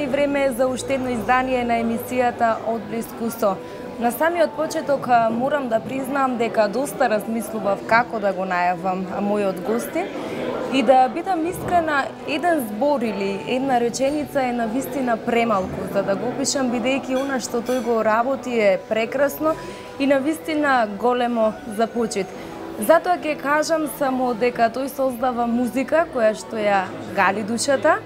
и време за уште едно издание на емисијата Од блиску со. На самиот почеток морам да признам дека доста размислував како да го најавам мојот гостин и да бидам искрена, еден збор или една реченица е навистина премалку за да го опишам, бидејќи она што тој го работи е прекрасно и навистина големо за почит. Затоа ќе кажам само дека тој создава музика која што ја гали душата,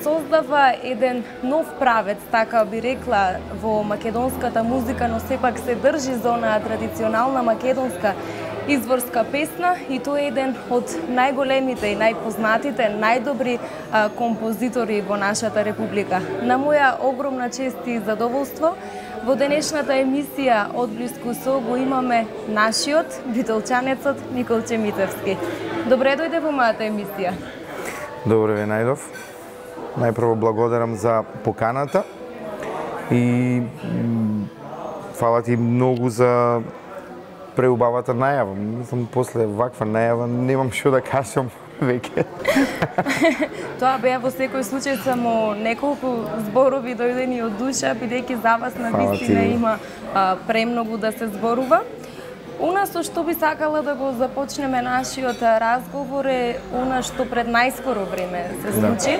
создава еден нов правец, така би рекла, во македонската музика, но сепак се држи за онаа традиционална македонска изворска песна и тој е еден од најголемите и најпознатите, најдобри композитори во нашата република. На моја огромна чест и задоволство, во денешната емисија Од блиску со го имаме нашиот битолчанецот Николче Митевски. Добре дојде во мојата емисија. Добре ве најдов. Најпрво благодарам за поканата и фала ти многу за преубавата најава. Мислам, после ваква најава немам што да кажам веќе. Тоа беа во секој случај само неколку зборови дојдени од душа, бидејќи за вас на вистина има премногу да се зборува. Она со што би сакала да го започнеме нашиот разговор е она што пред најскоро време се случи.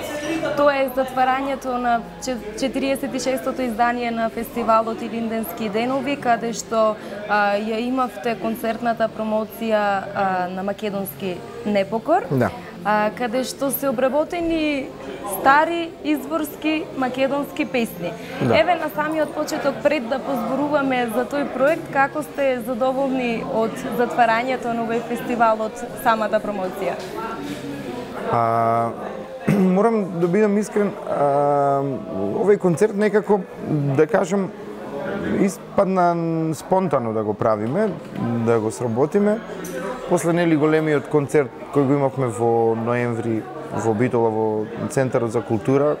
Тоа е затварањето на 46-тото издание на фестивалот Илинденски денови, каде што ја имавте концертната промоција на македонски непокор. Каде што се обработени стари изворски македонски песни. Еве на самиот почеток, пред да позборуваме за тој проект, како сте задоволни од затварањето на овој фестивал, од самата промоција? Морам да бидам искрен, овој концерт некако, да кажам, испадна спонтано да го правиме, да го сработиме. После нели големиот концерт кој го имавме во ноември во Битола, во Центарот за култура,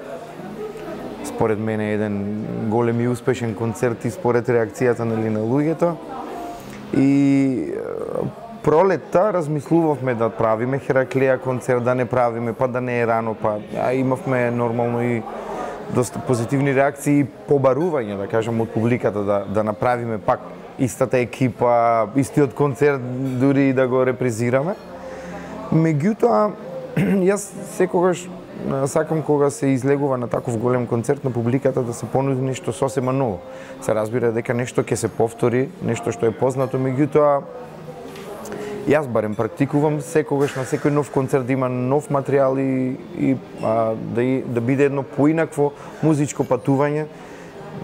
според мене еден голем и успешен концерт и според реакцијата на луѓето. И пролетта размислувавме да правиме Хераклеја концерт, да не правиме, па да не е рано, па имавме нормално и доста позитивни реакции и побарување, да кажам, од публиката да направиме пак истата екипа, истиот концерт, дури и да го репризираме. Меѓутоа, јас секогаш сакам кога се излегува на таков голем концерт на публиката да се понуди нешто сосема ново. Се разбира дека нешто ќе се повтори, нешто што е познато, меѓутоа јас барем практикувам секогаш на секој нов концерт да има нов материјал и да биде едно поинакво музичко патување,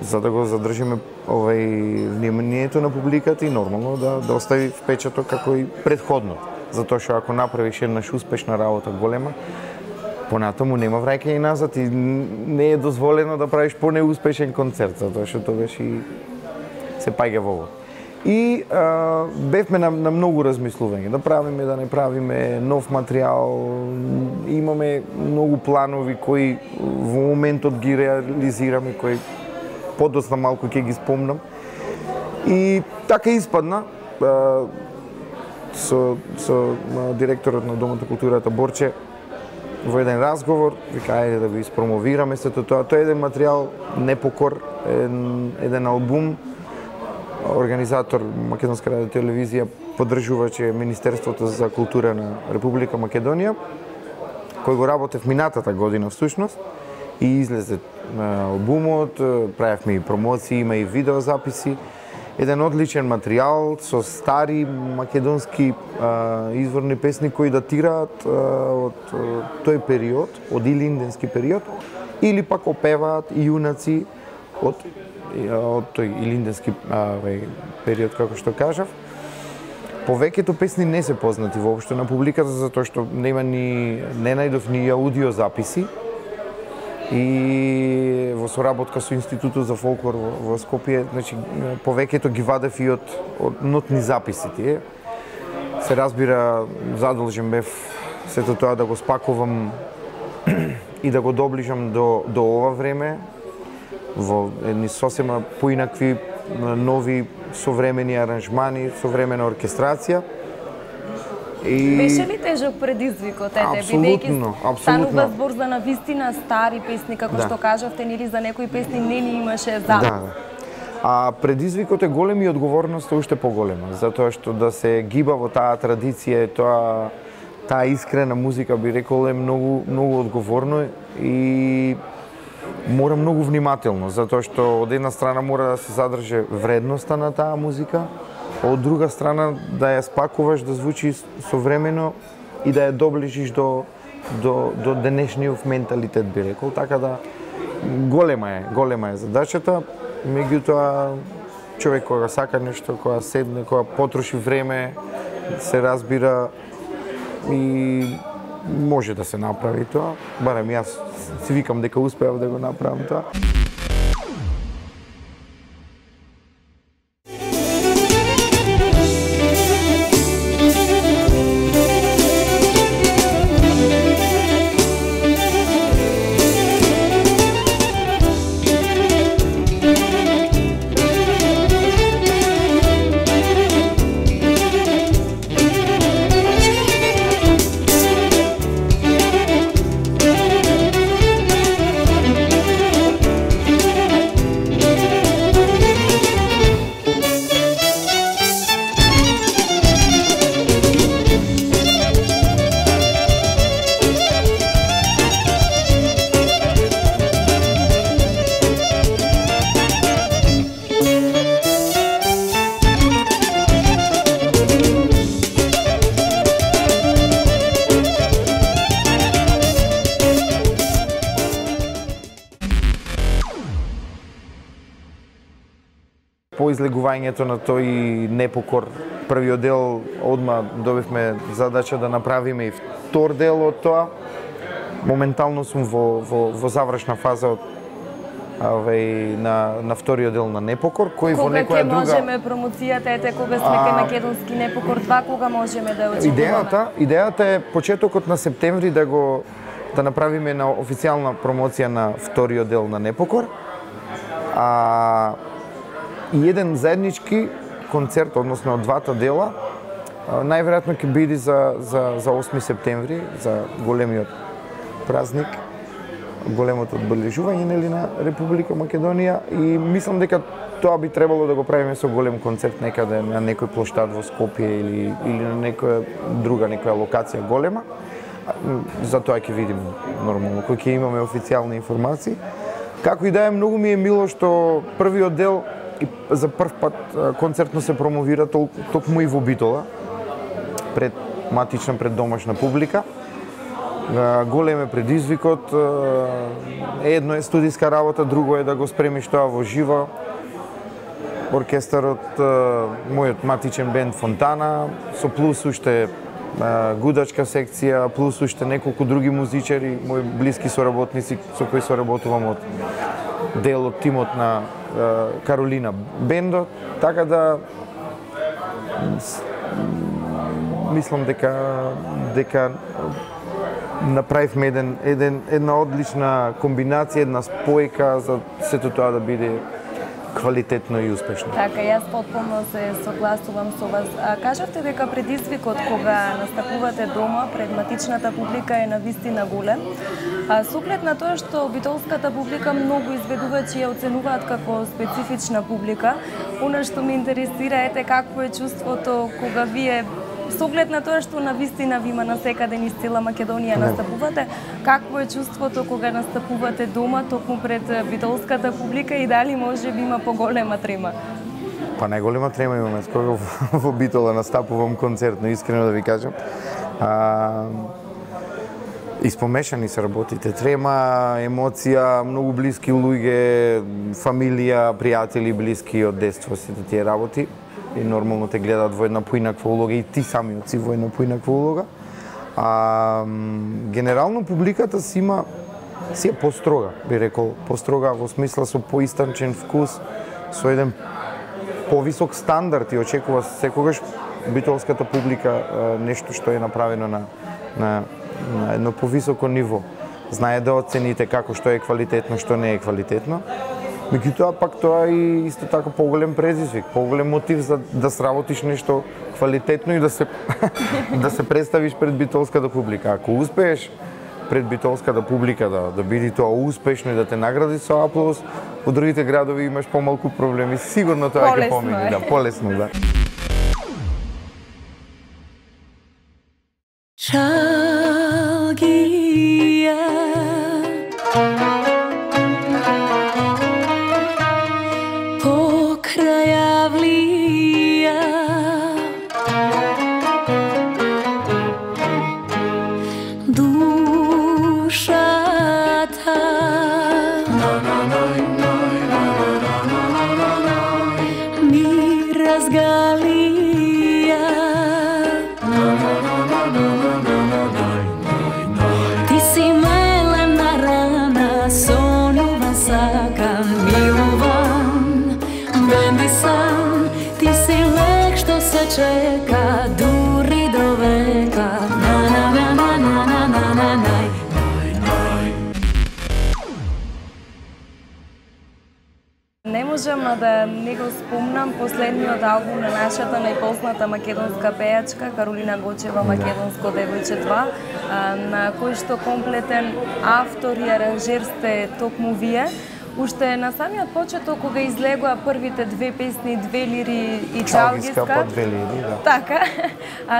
за да го задржиме вниманието на публиката и нормално да остави впечаток како и предходно. Затоа што ако направиш еднаш успешна работа голема, понатаму нема враќање назад и не е дозволено да правиш понеуспешен концерт, затоа што тогаш и се паѓа во ово. И бевме на многу размислување, да правиме, да не правиме, нов материјал, имаме многу планови кои во моментот ги реализираме, кои подоцна малку ќе ги спомнам. И така испадна, со директорот на Домот на културата Борче во еден разговор, вика, ајде да го испромовираме сето тоа. Тоа е еден материјал Непокор, еден албум. Организатор Македонска радио телевизија поддржуваче Министерството за култура на Република Македонија, кој го работев минатата година всушност и излезе албумот, правевме и промоции, има и видеозаписи. Еден одличен материјал со стари македонски изворни песни кои датираат од тој период, од илинденски период, или пак опеваат јунаци од тој илинденски период, како што кажав. Повеќето песни не се познати воопшто на публиката, затоа што не најдов ни аудио записи. И во соработка со Институтот за фолклор во Скопје, значи повеќето ги вадев и од нотни записи тие. Се разбира, задолжен бев сето тоа да го спакувам и да го доближам до ова време во едни сосема поинакви нови современи аранжмани, современа оркестрација. Беше ли тежок предизвикот, Апсолутно. Станува збор за навистина стари песни, како што кажавте, нели за некои песни не ни имаше за. Да. А предизвикот е голем и одговорноста уште поголема, затоа што да се гиба во таа традиција, таа искрена музика, би рекол, е многу одговорно и мора многу внимателно, затоа што од една страна мора да се задржи вредноста на таа музика, од друга страна да ја спакуваш да звучи современо и да ја доближиш до денешниот менталитет, би рекол, така да голема е задачата, меѓутоа човек кога сака нешто, кога седне, кога потроши време, се разбира и може да се направи тоа, барем јас си викам дека успеав да го направам тоа. По излегувањето на тој непокор, првиот дел, одма добивме задача да направиме и втор дел од тоа. Моментално сум во завршна фаза на вториот дел на Непокор, кој во некоја друга... Кога ќе можеме промоцијата, кога сме ке Македонски Непокор 2, кога можеме да очекуваме? Идејата е почетокот на септември да направиме на официјална промоција на вториот дел на Непокор. И еден заеднички концерт, односно од двата дела, најверојатно ќе биде за 8 септември, за големиот празник, големото одбележување на Република Македонија, и мислам дека тоа би требало да го правиме со голем концерт некаде на некој плоштад во Скопје или на некоја локација голема. За тоа ќе видиме нормално, кој ќе имаме официјални информации. Како и да е, многу ми е мило што првиот дел и за прв пат концертно се промовира токму и во Битола, пред домашна публика. Голем е предизвикот, едно е студиска работа, друго е да го спремиш тоа во живо. Оркестарот, мојот матичен бенд Фонтана, со плюс уште гудачка секција, плюс уште неколку други музичари, мои блиски соработници со кои соработувам од дел од тимот на Каролина бендот, така да мислам дека направивме една одлична комбинација, една спојка за сето тоа да биде квалитетно и успешно. Така, јас потполно се согласувам со вас. Кажавте дека предизвикот кога настапувате дома пред матичната публика е навистина голем. Со оглед на тоа што битолската публика многу изведувачи ја оценуваат како специфична публика, она што ме интересира е какво е чувството кога вие со оглед на тоа што навистина ви има насекаде низ цела Македонија настапувате, какво е чувството кога настапувате дома токму пред битолската публика и дали може би има поголема трема? Па најголема трема имаме кога во Битола настапувам концертно, искрено да ви кажам. Испомешани се работите, трема, емоција, многу блиски луѓе, фамилија, пријатели, блиски од детство сите тие работи. И нормално те гледаат во една поинаква улога и ти самиот си во една поинаква улога. Генерално публиката си е построга, би рекол, построга во смисла со поистанчен вкус, со еден повисок стандард и очекува секогаш битолската публика нешто што е направено на едно повисоко ниво. Знае да оцените како што е квалитетно, што не е квалитетно. Меѓутоа пак тоа е исто така поголем предизвик, поголем мотив за да сработиш нешто квалитетно и да се да се представиш пред битолската публика. Ако успееш пред битолската публика да биде тоа успешно и да те награди со аплауз, во другите градови имаш помалку проблеми. Сигурно тоа ќе помине, да, полесно, да. Чалгија покрај авлија душата ми разгалија. Ти си мелена рана, сонува сакам, милувам, бенди сам. Ти си лек што се чека, дури до века. Не можам да не го спомнам последниот албум на нашата најпозната македонска пејачка Каролина Гочева, Македонско девојче 2, на кој што комплетен автор и аранжер сте токму вие. Уште на самиот почеток кога излегоа првите две песни, Две лири и Чалгиска, па Две лири, да. Така,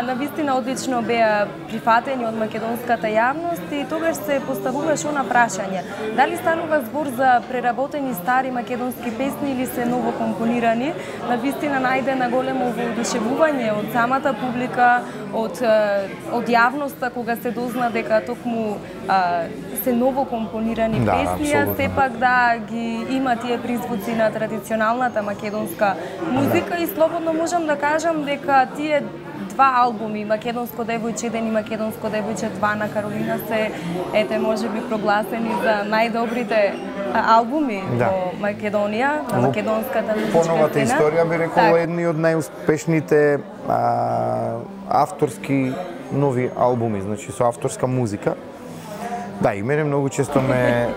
навистина одлично беа прифатени од македонската јавност и тогаш се поставуваше она прашање. Дали станува збор за преработени стари македонски песни или се ново компонирани? Навистина најдена големо воодушевување од самата публика, од јавноста кога се дозна дека токму се ново компонирани песни, а сепак да ги има тие призвуци на традиционалната македонска музика и слободно можам да кажам дека тие два албуми, Македонско девојче 1 и Македонско девојче 2 на Каролина се, можеби прогласени за најдобрите албуми во Македонија, на македонската музичка сцена. Поновата историја би рекол едни од најуспешните авторски нови албуми, значи со авторска музика. Да, и мене многу често ме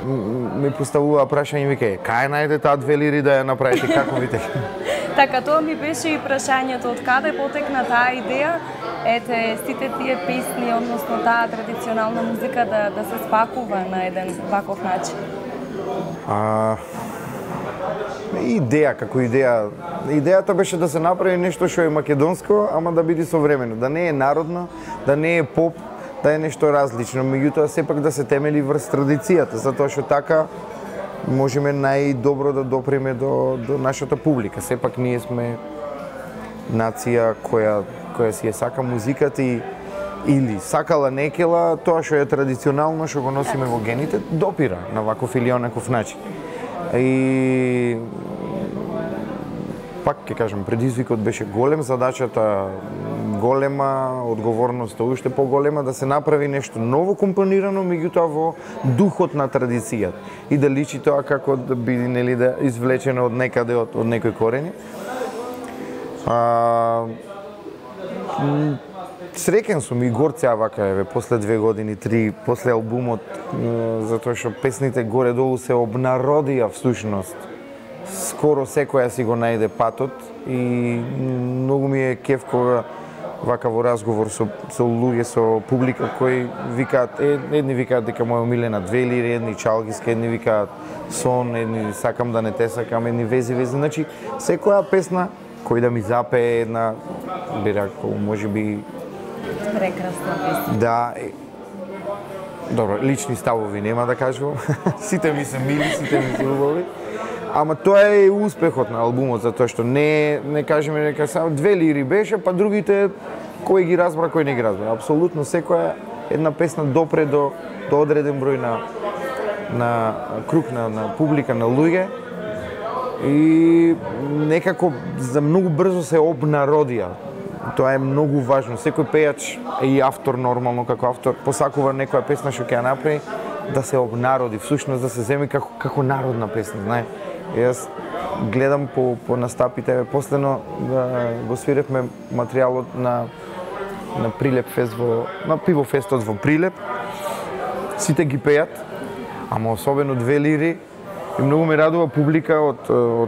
поставува прашање, вика, кај најде таа Две лири да ја направите, како видите? Така, тоа ми беше и прашањето, од каде потекна таа идеја, сите тие песни, односно таа традиционална музика да се спакува на еден ваков начин? Идеја, како идеја. Идејата беше да се направи нешто што е македонско, ама да биде современо, да не е народно, да не е поп, да е нешто различно, меѓутоа сепак да се темели врз традицијата, затоа што така можеме најдобро да допреме до нашата публика. Сепак ние сме нација која си ја сака музиката и или сакала некела, тоа што е традиционално, што го носиме во гените, допира на ваков или онаков начин. И пак ќе кажам, предизвикот беше голем, задачата голема, одговорноста уште поголема, да се направи нешто ново компонирано, меѓутоа во духот на традицијата и да личи тоа како да биде, нели, да извлечено од некаде, од некои корени. Среќен сум и горд сега вака, после 2 години, 3, после албумот, затоа што песните горе-долу се обнародија всушност. Скоро секоја си го најде патот и многу ми е кеф кога вака во разговор со луѓе, со публика кои викаат, едни викаат дека моја омилена Две лири, едни Чалгиска, едни викаат Сон, едни Сакам да не те сакам, едни Вези. Значи, секоја песна кој да ми запее една, би рекол, можеби прекрасна песна. Да, добро, лични ставови нема да кажувам. Сите ми се мили, сите ми се убави. Ама тоа е успехот на албумот, затоа што не кажеме дека само Две лири беше, па другите кој ги разбра, кој не ги разбра. Апсолутно секоја една песна допре до одреден број на круг на публика, на луѓе и некако за многу брзо се обнародија. Тоа е многу важно. Секој пејач и автор нормално како автор посакува некоја песна што ќе ја направи да се обнароди, всушност да се земи како народна песна, знае. Јас гледам по настапите, последно го свиревме материјалот на Прилеп фест на пивофестот во Прилеп. Сите ги пеат, ама особено Две лири И многу ме радува публика од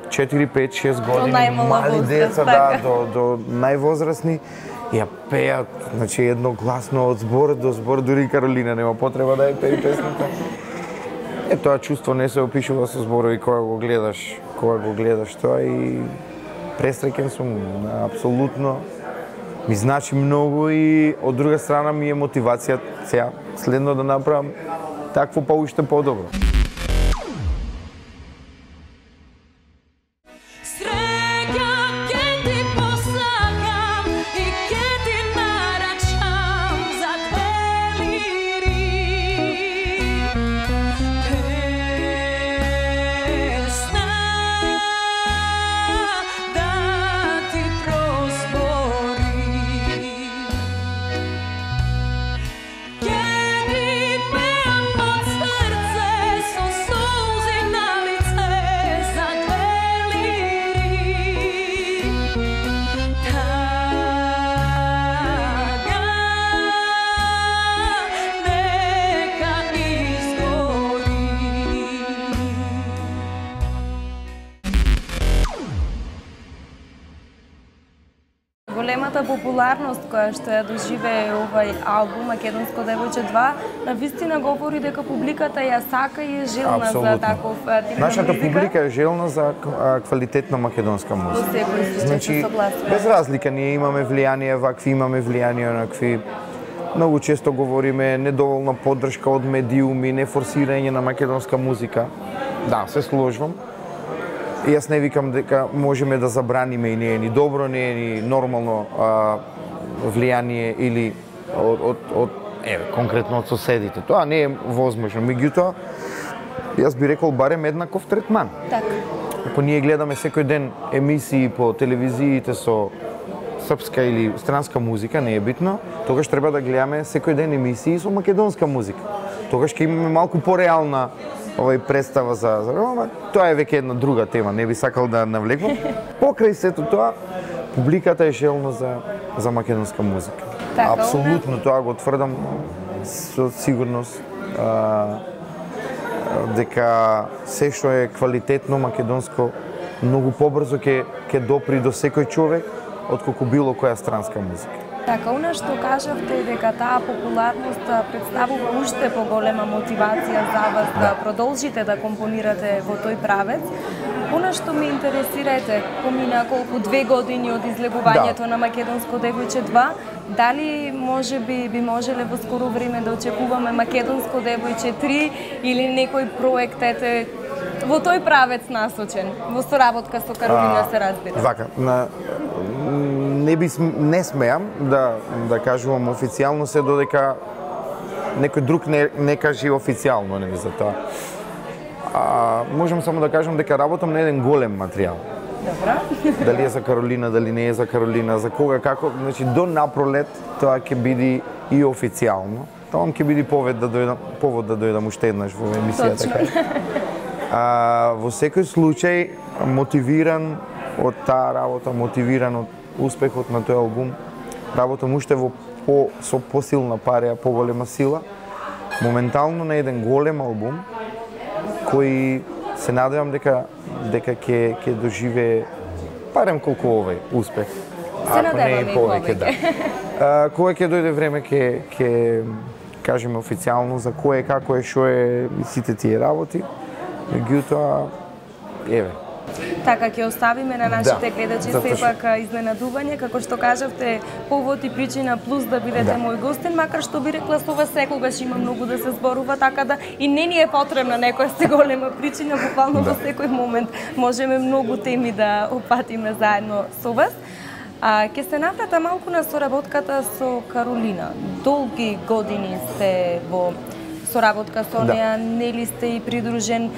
4, 5, 6 години, мали деца, до највозрасни, ја пеат, значи едногласно од збор до збор, дури Каролина нема потреба да ја пее песната. Тоа чувство не се опишува со зборови кога го гледаш тоа и пресреќен сум, апсолутно. Ми значи многу и од друга страна ми е мотивација сега следно да направам такво па уште подобро. Големата популарност која што ја доживее овај албум Македонско девојче 2, навистина говори дека публиката ја сака и е желна за таков тип на музика. Нашата публика е желна за квалитетна македонска музика. Значи, без разлика, ние имаме влијание вакви, имаме влијание онакви. Многу често говориме недоволна поддршка од медиуми, нефорсирање на македонска музика. Да, се сложвам. И јас не викам дека можеме да забраниме и не е ни добро, не е ни нормално влијание или конкретно од соседите. Тоа не е возможно. Меѓутоа, јас би рекол барем еднаков третман. Така. Ако ние гледаме секој ден емисии по телевизиите со српска или странска музика, не е битно, тогаш треба да гледаме секој ден емисии со македонска музика. Тогаш ќе имаме малку пореална представа за тоа е веќе една друга тема, не би сакал да навлекувам. Покрај сето тоа, публиката е желна за македонска музика. Така, апсолутно тоа го тврдам со сигурност дека се што е квалитетно македонско многу побрзо ќе допри до секој човек отколку било која странска музика. Така, она што кажавте дека таа популарност представува уште поголема мотивација за вас да продолжите да компонирате во тој правец. Она што ме интересирате, помина колку 2 години од излегувањето на Македонско девојче 2, дали можеби би можеле во скоро време да очекуваме Македонско девојче 3 или некој проект во тој правец насочен, во соработка со Каролина се разбира? Вака, не смеам да кажувам официјално се додека некој друг не каже официјално за тоа. Можам само да кажам дека работам на еден голем материјал. Добро. Дали е за Каролина, дали не е за Каролина, за кога, како, значи до напролет тоа ќе биде и официјално. Тоа ќе биде повод да дојдам уште еднаш во емисијата. Во секој случај мотивиран од таа работа, мотивиран од успехот на тој албум, работам уште со посилна пареја, поголема сила, моментално на еден голем албум, кој се надевам дека ќе доживее барем колку овој успех. Ако не и повеќе, да. Кога ќе дојде време ќе кажеме официјално за кој како е, што е сите тие работи. Меѓутоа, еве. Така, ќе оставиме на нашите гледачи сепак изненадување, како што кажавте, повод и причина плюс да бидете мој гостин, макар што би рекла со вас секогаш има многу да се зборува, така да и не ни е потребна некоја се голема причина, буквално во секој момент можеме многу теми да опатиме заедно со вас. Ќе се наврата малку на соработката со Каролина. Долги години сте во соработка со неа, нели сте и придружен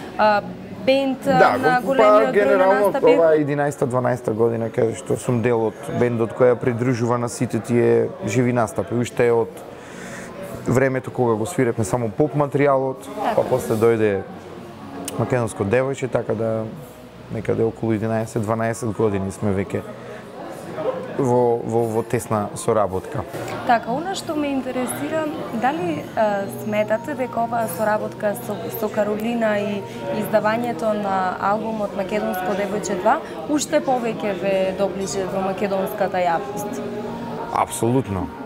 бенд на големиот број на настапи? Ова е 11-12 година, каде што сум дел од бендот која придружува на сите тие живи настапи. Уште од времето кога го свиревме само поп материјалот, па после дојде Македонско девојче, така да некаде околу 11-12 години сме веќе во тесна соработка. Така, она што ме интересира, дали сметате дека оваа соработка со Каролина и издавањето на албумот Македонско девојче 2 уште повеќе ве доближи до македонската јавност?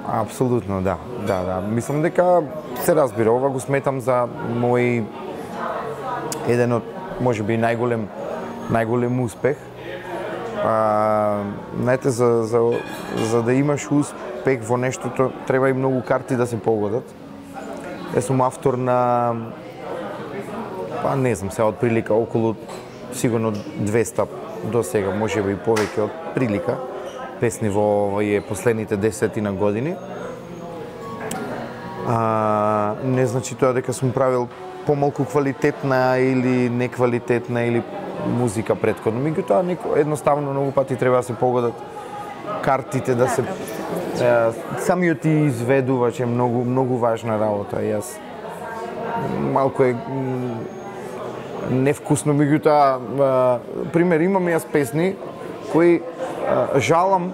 Апсолутно, да. Мислам дека се разбира, ова го сметам за мој еден од можеби најголем успех. Знаете, за да имаш успех во нештото, треба и многу карти да се погодат. Јас сум автор на, не знам, сега од прилика околу сигурно 200 до сега, можеби и повеќе од прилика, песни во овие последните 10 години. Не значи тоа дека сум правил помалку квалитетна или неквалитетна или музика претходно. Меѓутоа, едноставно многу пати треба да се погодат картите, да се самиот изведувач е многу важна работа. Јас малку е невкусно, меѓутоа, пример, имам јас песни кои жалам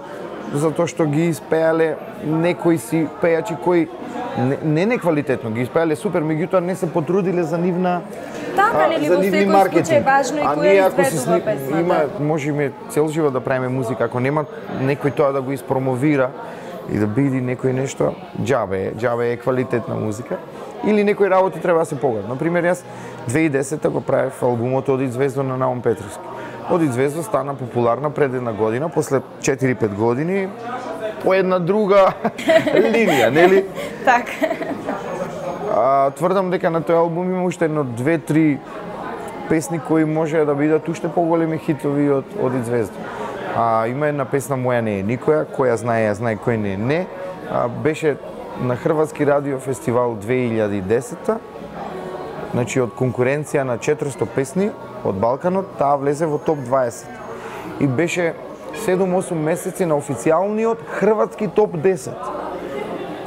за тоа што ги испеале некои си пејачи кои не неквалитетно ги испеале супер, меѓутоа не се потрудиле за нивна за нивни маркетинг. Важно и која изведува песната. Има, можеме цел живот да правиме музика, ако нема некој тоа да го испромовира и да биде некој нешто, џабе е квалитетна музика. Или некои работи треба да се погодат. Например, јас 2010 го правев албумот Оди звездо на Наум Петровски. Оди звездо стана популарна пред една година, после 4-5 години, по една друга линија, нели? Така. Тврдам дека на тој албум има уште едно 2-3 песни кои може да бидат уште поголеми хитови од Оди звездо. Има една песна Моја не е никоја, која знае, кој не. Беше на Хрватски радио фестивал 2010. Значи од конкуренција на 400 песни од Балканот, таа влезе во топ 20. И беше 7-8 месеци на официјалниот хрватски топ 10.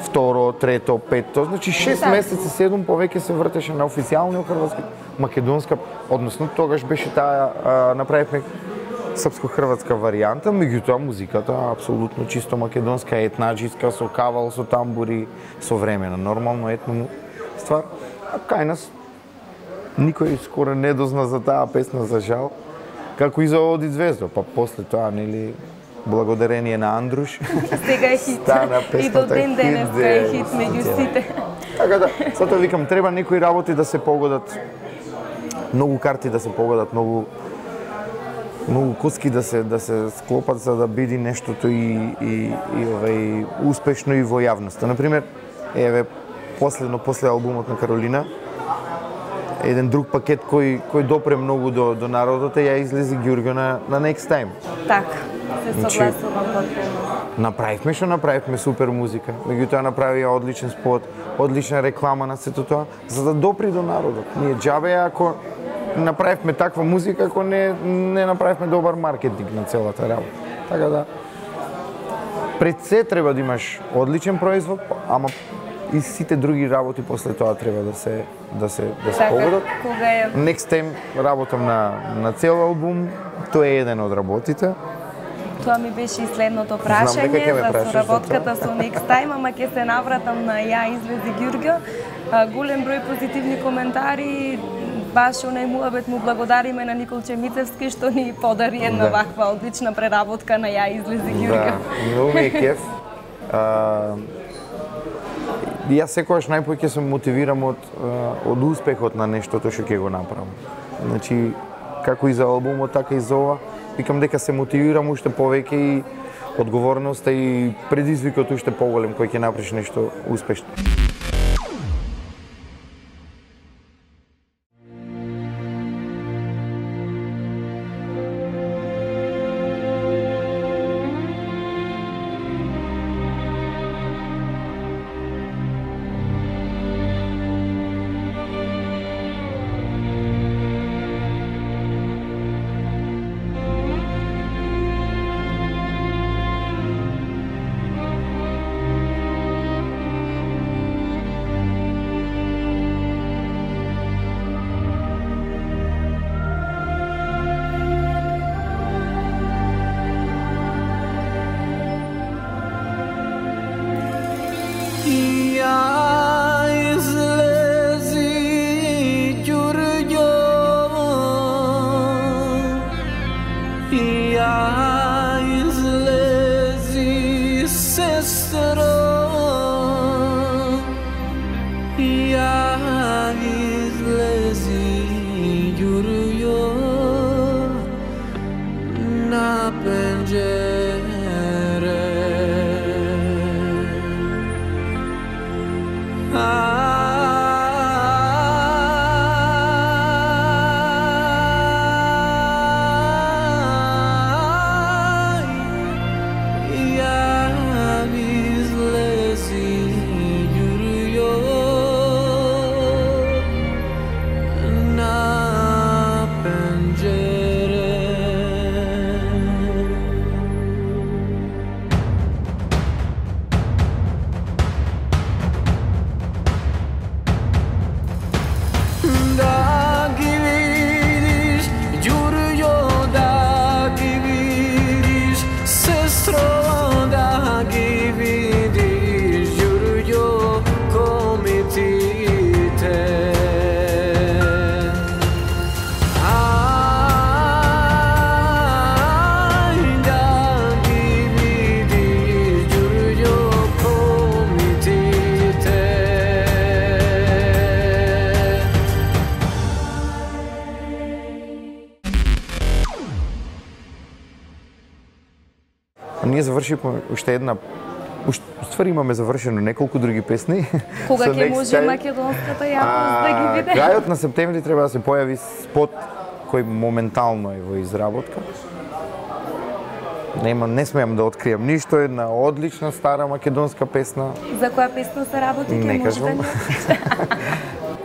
Второ, трето, пето, значи 6 месеци, 7 повеќе се вртеше на официјалниот хрватски, македонска, односно тогаш беше таа, направивме српско-хрватска варијанта, меѓутоа музиката апсолутно чисто македонска, етнаџиска, со кавал, со тамбури, современа, нормално етно ствар. А кај нас никој скоро не дозна за таа песна, за жал, како и за Оди звездо, па после тоа, нели, благодарение на Андруш. Сега е хит. И до ден денеска е хит меѓу сите. Така да, затоа викам, треба некои работи да се погодат, многу карти да се погодат, многу коски да се склопат за да биде нештото и успешно и во јавноста. Например, после албумот на Каролина, еден друг пакет кој допре многу до народот ја излезе Ѓурѓо на Next Time. Така, се согласувам потpuno. Направивме супер музика, меѓутоа направија одличен спот, одлична реклама на сето тоа, за да допри до народот. Ние џабе ако направивме таква музика, ако не направивме добар маркетинг на целата работа. Така да, пред се треба да имаш одличен производ, ама и сите други работи после тоа треба да се погодат. Next Time работам на цел албум, тоа е еден од работите. Тоа ми беше и следното прашање за соработката со Next Time, ама ќе се навратам на ја излезе Ѓурѓо. Голем број позитивни коментари, баш онај муабет му благодариме на Николче Мицевски што ни подари една ваква одлична преработка на ја излезе Ѓурѓо. Да, многу ми е кеф. Јас секогаш најпоќе се мотивирам од успехот на нештото што ќе го направам. Значи, како и за албумот, така и за ова, викам дека се мотивирам уште повеќе и одговорноста и предизвикот уште поголем кој ќе направиш нешто успешно. sestro, ja izlezi Jurjo na penđere. Ние завршивме уште една, ствари имаме завршено неколку други песни. Кога ќе може македонската јавност да ги види? Крајот на септември треба да се појави спот кој моментално е во изработка. Не смеам да откријам ништо, една одлична стара македонска песна. За која песна се работи? Не кажам.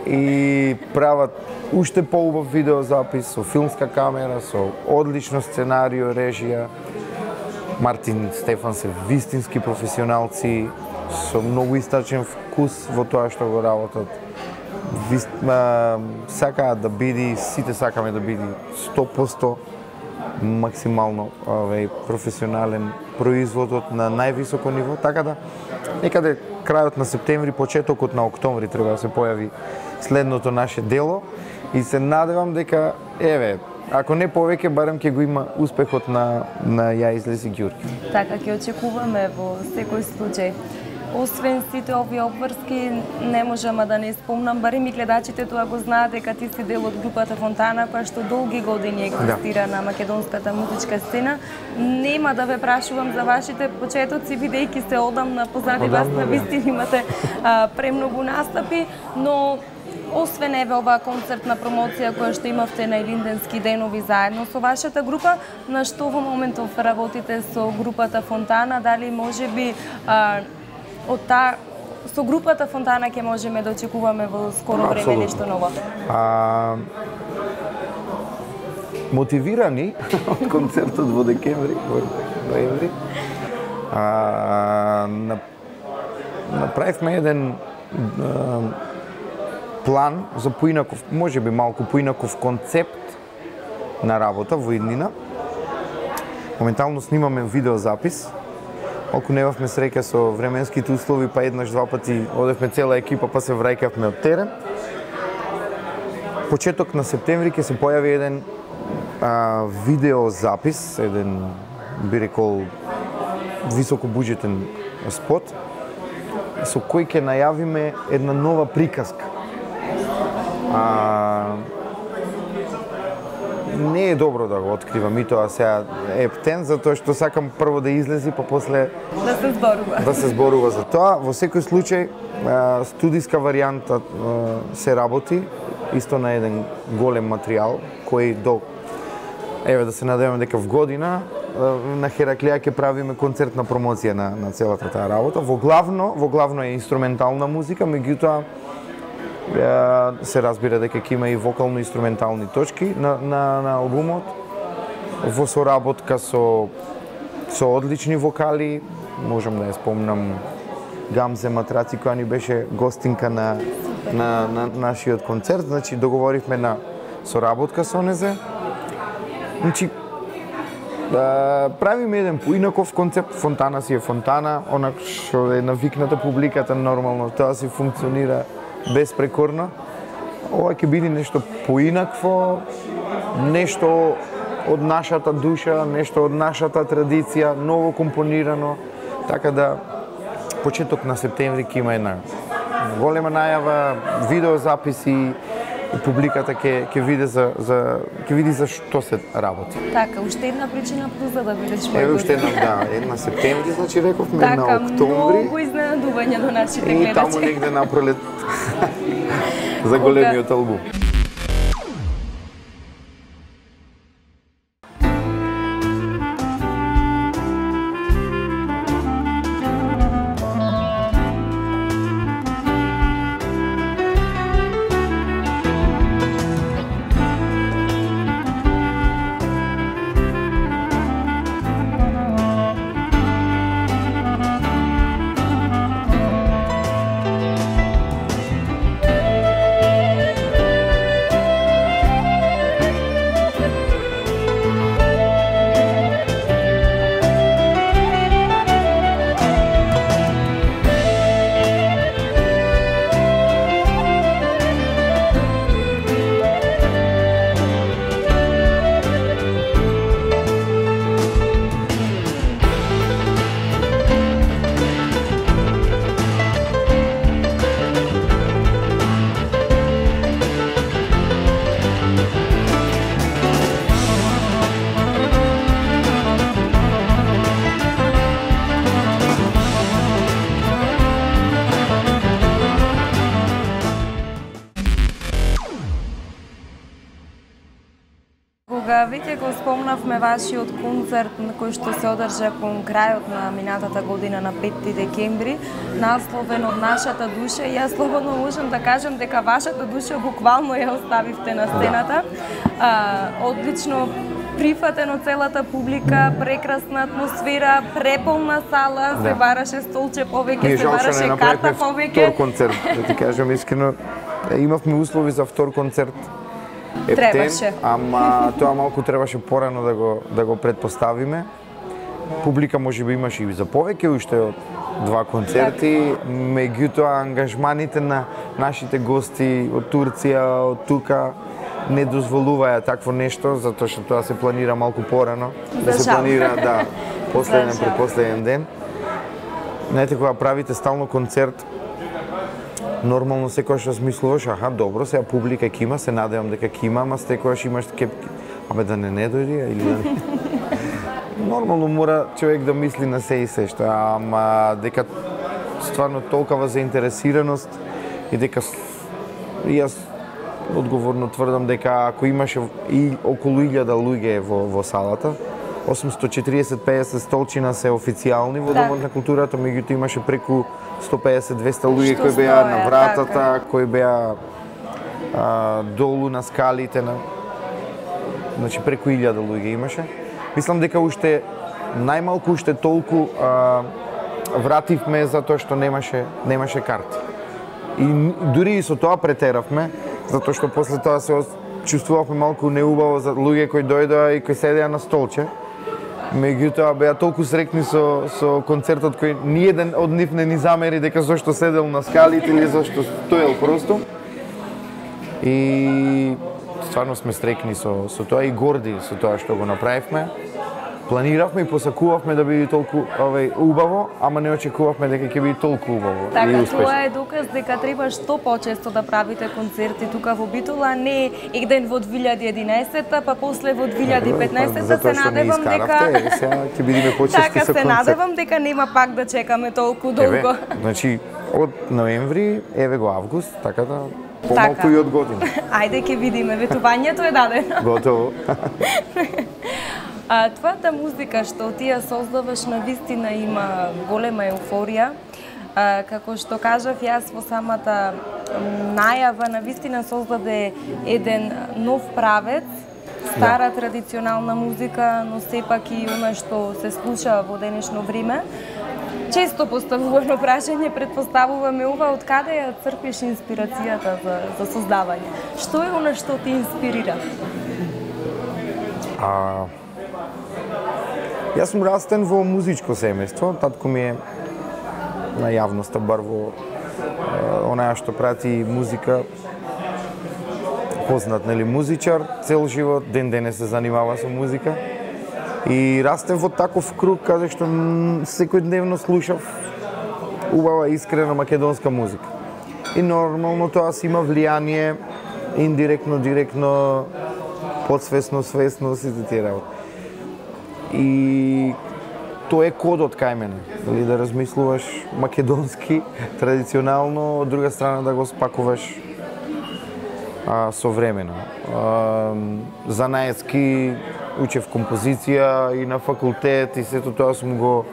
И прават уште поубав видеозапис со филмска камера, со одлично сценарио, режија. Мартин Стефан се вистински професионалци со многу истачен вкус во тоа што го работат. Сакаат да биде, сите сакаме да биде 100% максимално професионален производот на највисоко ниво, така да некаде крајот на септември, почетокот на октомври треба да се појави следното наше дело и се надевам дека ако не повеќе, барем ќе го има успехот на Ја излези Ѓурѓи. Така ќе очекуваме во секој случај. Освен сите овие обврски, не можам да не спомнам, барем и гледачите тоа го знаат дека ти си дел од групата Фонтана, која што долги години екзистира на македонската музичка сцена. Нема да ве прашувам за вашите почетоци, бидејќи се одамна позади вас, на вистина имате премногу настапи, но освен оваа концертна промоција која што имавте на Илинденски денови заедно со вашата група, на што во моментов работите со групата Фонтана, дали можеби со групата Фонтана ќе можеме да очекуваме во скоро време нешто ново? Мотивирани од концертот во декември, во ноември, направивме еден план за поинаков, можеби малку поинаков концепт на работа во иднина. Моментално снимаме видеозапис. Малку немавме среќа со временските услови, па еднаш два пати одевме цела екипа, па се враќавме од терен. Почеток на септември ќе се појави еден видеозапис, еден би рекол високобуџетен спот, со кој ќе најавиме една нова приказка. Не е добро да го откривам и тоа сега ептен, затоа што сакам прво да излези, па после да се зборува за тоа. Во секој случај, студиска варијанта се работи, исто на еден голем материјал, кој да се надеваме дека в година на Хераклија ќе правиме концертна промоција на целата таа работа. Во главно е инструментална музика, меѓутоа се разбира дека ќе има и вокално-инструментални точки на албумот, во соработка со одлични вокали. Можам да ја спомнам Гамзе Матраци, која ни беше гостинка на нашиот концерт. Значи, договоривме на соработка со незе. Значи, правиме еден поинаков концепт. Фонтана си е Фонтана, онак што е навикната публиката, нормално тоа си функционира безпрекорно. Ова ќе биде нешто поинакво, нешто од нашата душа, нешто од нашата традиција, ново компонирано, така да почеток на септември ќе има една голема најава, видеозаписи, и публиката ќе види за што се работи. Така, уште една причина плюс за да бидеш мој. Еве уште една септември, значи рековме на октомври. Многу изненадувања до нашите гледачи. И таму негде на пролет за големиот албум. Веќе го спомнавме вашиот концерт на кој што се одржа кон крајот на минатата година на 5 декември, насловен од нашата душа, и јас слободно можам да кажам дека вашата душа буквално ја оставивте на сцената. Одлично прифатено целата публика, прекрасна атмосфера, преполна сала, се бараше столче повеќе, се бараше карта повеќе. Втор концерт, да ти кажам искрено, имавме услови за втор концерт. Требаше. Ама тоа малку требаше порано да го предпоставиме. Публика можеби имаше и за повеќе уште од два концерти, меѓутоа ангажманите на нашите гости од Турција, од тука не дозволуваја такво нешто, затоа што тоа се планира малку порано, да се планира последен предпоследен ден. Знаете, кога правите стално концерт, нормално секојаш размислуваш, добро, сега публика ќе има, се надевам дека ќе има, ама секојаш имаш да не дојде или да не. Нормално мора човек да мисли на се и се што, ама дека стварно толкова заинтересираност и дека јас одговорно тврдам дека ако имаше и околу 1000 луѓе во салата, 840-50 столчина се официјални во Домот на културата, меѓутоа имаше преку 150-200 луѓе кои беа на вратата, кои беа долу на скалите, значи преку 1000 луѓе имаше. Мислам дека уште најмалку уште толку вративме затоа што немаше карти. И дури и со тоа претеравме, затоа што после тоа се чувствувавме малку неубаво за луѓе кои дојдоа и кои седеа на столче. Меѓутоа беа толку срекни со концертот кој ниеден од нив не ни замери дека зошто седел на скалите или зошто стоел просто. И стварно сме срекни со тоа и горди со тоа што го направивме. Планиравме и посакувавме да биде толку убаво, ама не очекувавме дека ќе биде толку убаво и успешно. Тоа е доказ дека треба што почесто да правите концерти тука во Битола, не еден во 2011-та, па после во 2015-та. Се надевам дека сега ќе бидеме почести со концерт. Така, се надевам дека нема пак да чекаме толку долго. Значи од ноември, еве го август, така да помалку и од година. Ајде ќе видиме, ветувањето е дадено. Готово. Твојата музика што ти ја создаваш на вистина има голема еуфорија. Како што кажав јас во самата најава, на вистина создаде еден нов правец, стара традиционална музика, но сепак и она што се слуша во денешно време. Често поставувано прашање, предпоставуваме ова, од каде ја црпиш инспирацијата за создавање? Што е она што ти инспирира? Јас сум растен во музичко семејство, татко ми е на јавноста, бар во онаја што прати музика, познат, нели, музичар, цел живот, ден денес се занимава со музика. И растен во таков круг, каде што секојдневно слушав убава, искрена македонска музика. И нормално тоа си има влијание индиректно, директно, подсвесно, свесно, сите тие работи. И тоа е кодот кај мене, дали да размислуваш македонски, традиционално, од друга страна да го спакуваш современо. Занаетски учев композиција и на факултет и сето тоа сум го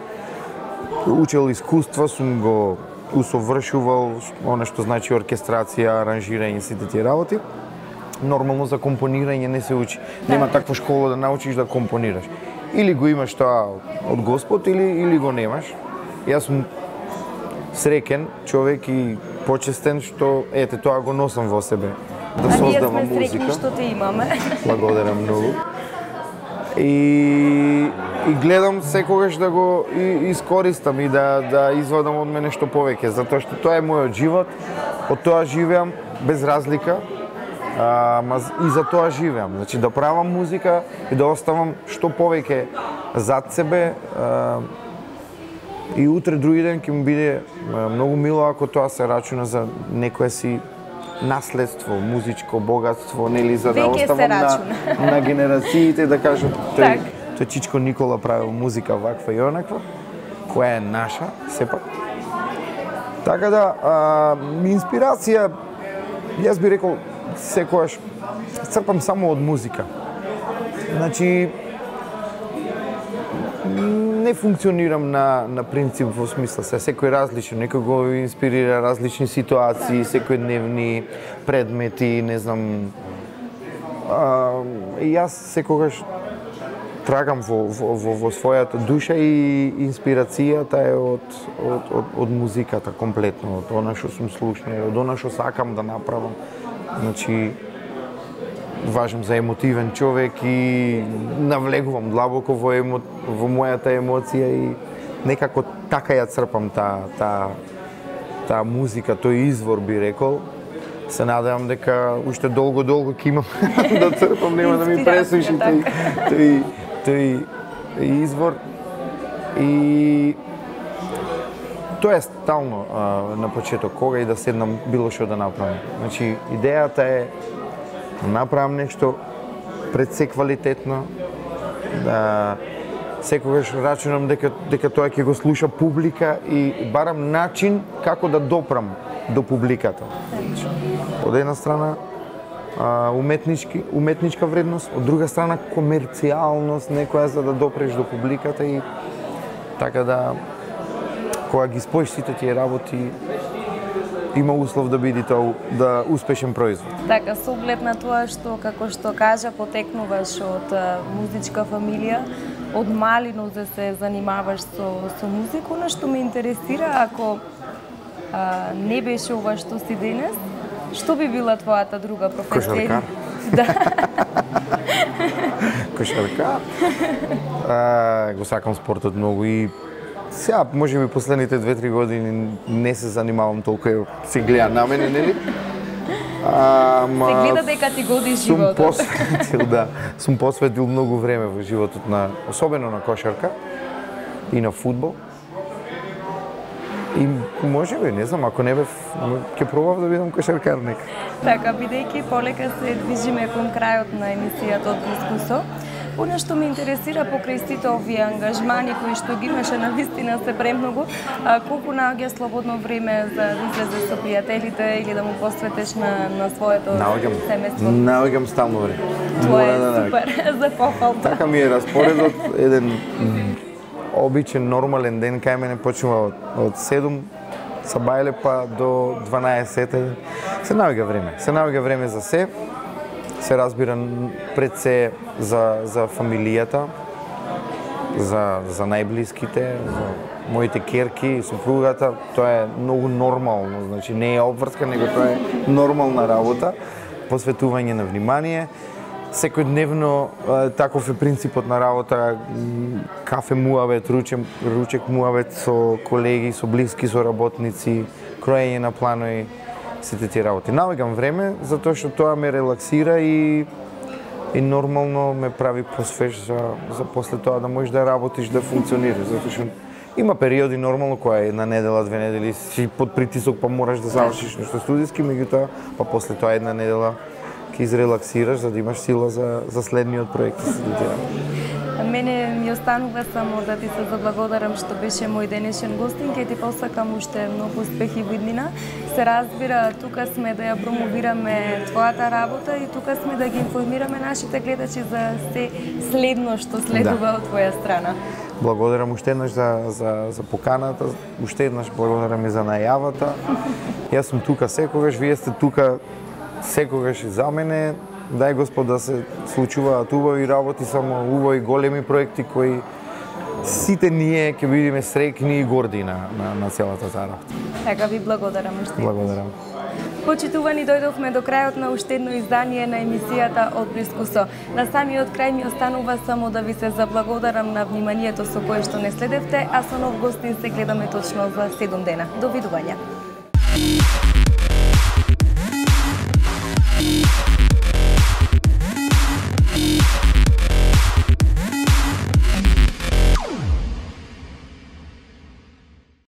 учел искуства, сум го усовршувал, оно што значи оркестрација, аранжирање, сите тие работи. Нормално за компонирање не се учи. Нема таква школа да научиш да компонираш. Или го имаш тоа од Господ, или го немаш. Јас сум среќен човек и почестен што ете тоа го носам во себе. Да создавам музика. А ние сме среќни што те имаме. Благодарам многу. И гледам секогаш да го искористам и да извадам од мене што повеќе, затоа што тоа е мојот живот, од тоа живеам без разлика, и за тоа живеам. Значи да правам музика и да оставам што повеќе зад себе, и утре други ден ќе ми биде многу мило ако тоа се рачуна за некое си наследство, музичко богатство, нели, за да оставам на генерациите да кажат тој Чичко Никола правил музика ваква и онаква, која е наша, сепак. Така да, инспирација, јас би рекол, секојаш црпам само од музика. Значи, не функционирам на принцип во смисла секој различен, некој го инспирира различни ситуации, секојдневни предмети, не знам. Јас секогаш трагам во својата душа и инспирацијата е од музиката комплетно, од она што сум слушнал, од она што сакам да направам. Значи, важам за емотивен човек и навлегувам длабоко во мојата емоција и некако така ја црпам таа музика, тој извор би рекол. Се надевам дека уште долго ќе имам да црпам, нема да ми пресуши тој извор. И тоа е стално на почеток, кога и да седнам било што да направам. Значи, идејата е да направам нешто пред се квалитетно, да секогаш рачунам дека тоа ќе го слуша публика и барам начин како да допрам до публиката. Од една страна уметничка вредност, од друга страна комерцијалност некоја за да допреш до публиката и така да кога ги споиш сите тие работи има услов да биде тоа успешен производ. Така, со оглед на тоа што, како што кажа, потекнуваш од музичка фамилија, од малино да се занимаваш со музика, нешто ме интересира, ако не беше ова што си денес, што би била твојата друга професија? Кошаркар. Да. Кошаркар. Го сакам спортот многу и сега, може би последните 2-3 години не се занимавам толку, се гледа на мене, нели? Се гледа дека ти годи животот. Сум посветил многу време во животот особено на кошарка и на фудбал. И може би, не знам, ако не бев, ќе пробав да бидам кошаркар нека. Така, бидејќи полека се движиме кон крајот на емисијата од Искусо, она што ме интересира покрај сите овие ангажмани кои што ги имаше навистина се премногу, колку наоѓа слободно време за да излезе со пријателите или да му посветиш на своето семејство? Наоѓам стално време. Тоа е супер, за пофалта. Така ми е распоредот, еден обичен, нормален ден кај мене почнува од 7 са бајле па до 12. Се наоѓа време за се разбира пред се за фамилијата, за најблиските, за моите керки, супругата, тоа е многу нормално, значи не е обврска, него тоа е нормална работа, посветување на внимание. Секојдневно таков е принципот на работа, кафе муавет, ручек муавет со колеги, со блиски, со работници, кроење на планови, сите тие работи. Наоѓам време затоа што тоа ме релаксира и нормално ме прави посвеж за после тоа да можеш да работиш, да функционираш, затоа што Има периоди нормално која е една недела, 2 недели си под притисок па мораш да завршиш нешто студиски, меѓутоа па после тоа една недела ќе изрелаксираш за да имаш сила за следниот проект да се студира. Мене ми останува само да ти се заблагодарам што беше мој денешен гостин, ќе ти посакам уште многу успехи во иднина. Се разбира, тука сме да ја промовираме твојата работа и тука сме да ги информираме нашите гледачи за се следно што следува од твоја страна. Благодарам уште еднаш за поканата, уште еднаш благодарам и за најавата. Јас сум тука секогаш, вие сте тука секогаш и за мене. Дај Господ да се случуваат убави работи, само убави големи проекти кои сите ние ќе бидеме среќни и горди на целата таа работа. Така ви благодарам уште. Благодарам. Почитувани, дојдовме до крајот на уште едно издание на емисијата Од блиску со. На самиот крај ми останува само да ви се заблагодарам на вниманието со кое што не следевте, а со нов гостин се гледаме точно за 7 дена. Довидување.